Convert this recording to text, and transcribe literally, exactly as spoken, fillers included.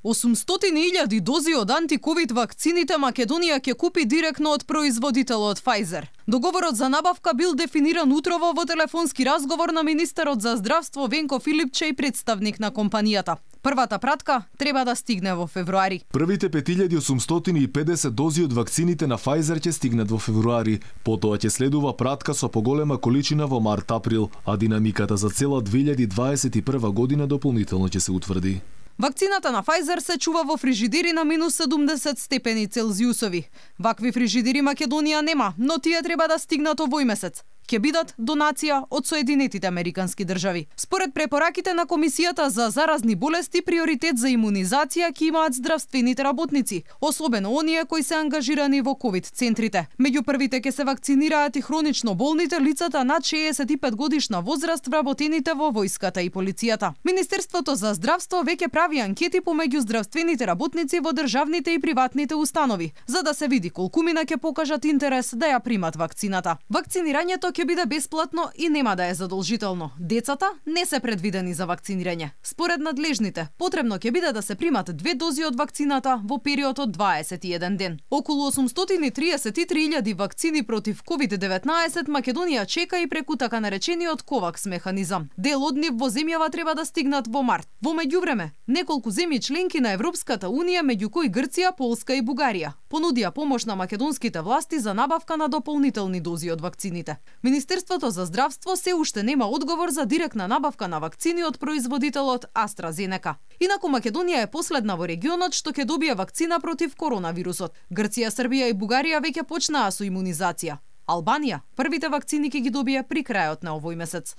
осумстотини илјади дози од антиковид вакцините Македонија ќе купи директно од производителот Pfizer. Договорот за набавка бил дефиниран утрово во телефонски разговор на министерот за здравство Венко Филипче и представник на компанијата. Првата пратка треба да стигне во февруари. Првите пет илјади осумстотини и педесет дози од вакцините на Pfizer ќе стигнат во февруари. Потоа ќе следува пратка со поголема количина во март-април, а динамиката за цела две илјади дваесет и прва година дополнително ќе се утврди. Вакцината на Pfizer се чува во фрижидери на минус седумдесет степени Целзиусови. Вакви фрижидери Македонија нема, но тие треба да стигнат овој месец. Ќе бидат донација од Соединетите Американски држави. Според препораките на Комисијата за заразни болести, приоритет за имунизација ќе имаат здравствените работници, особено оние кои се ангажирани во ковид центрите. Меѓу првите ќе се вакцинираат и хронично болните, лицата над шеесет и пет годишна возраст, вработените во војската и полицијата. Министерството за здравство веќе прави анкети помеѓу здравствените работници во државните и приватните установи, за да се види колку мина ќе покажат интерес да ја примат вакцината. Вакцинирањето ќе биде бесплатно и нема да е задолжително. Децата не се предвидени за вакцинирање. Според надлежните, потребно ќе биде да се примат две дози од вакцината во период од дваесет и еден ден. Околу осумстотини триесет и три илјади вакцини против ковид деветнаесет Македонија чека и преку така наречениот ковакс механизам. Дел од нив во земјава треба да стигнат во март. Во меѓувреме, неколку земји членки на Европската унија, меѓу кои Грција, Полска и Бугарија, понудија помош на македонските власти за набавка на дополнителни дози од вакцините. Министерството за здравство се уште нема одговор за директна набавка на вакцини од производителот AstraZeneca. Инаку Македонија е последна во регионот што ќе добие вакцина против коронавирусот. Грција, Србија и Бугарија веќе почнаа со имунизација. Албанија првите вакцини ќе ги добие при крајот на овој месец.